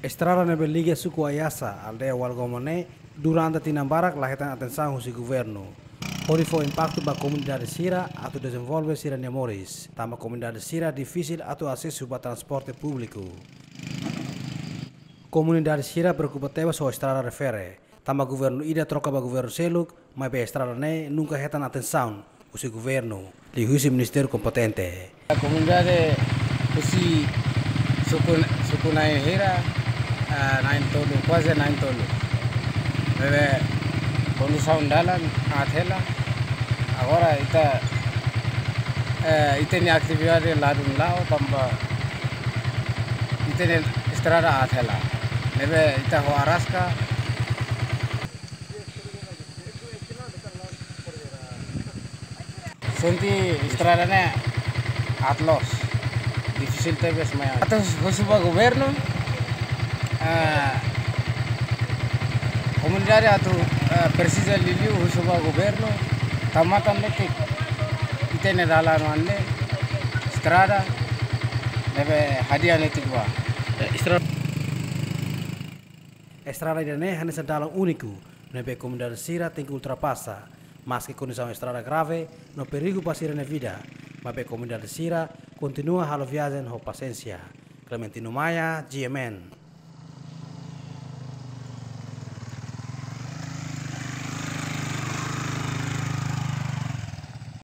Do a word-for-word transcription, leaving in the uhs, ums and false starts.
Estrada ne'ebé liga suku Ayasa, aldeia Walgoma ne'e, durante tinan barak la hetan atensaun husi governu. Hodi fó impaktu ba komunidade sira atu dezenvolve sira-nia moris, tanba komunidade sira difisil atu asesu ba transporte públiku. Komunidade sira preokupa tebes ho estrada refere, tanba governu ida troka ba governu seluk, maibé estrada ne'e nunka hetan atensaun husi governu, liuhusi ministériu kompetente. Komunidade husi suku, suku na'in hira, ah, na'in tolu, kuaze na'in tolu. Ne'ebé kondisaun dalan aat hela. Agora ita, eh, ita-nia atividade ladún la'o tanba ita-nia estrada aat hela. Ne'ebé ita ho araska. Sente estrada ne'e aat loos, difisil tebes mai. Atu husu ba governu, eh, komunidade atu, eh, presiza liuliu husu ba governu, tau matan netik ita-nia dalan oan ne'e, estrada ne'ebé hadi'a netik ba. Eh, estrada. Estrada ida-ne'e hanesan dalan úniku, ne'ebé komunidade sira tenke ultrapasa, maski kondisaun estrada grave no perigu ba sira-nia vida, maibé komunidade sira kontinua halo viajen ho pasiénsia. Clementino Maia, G M N.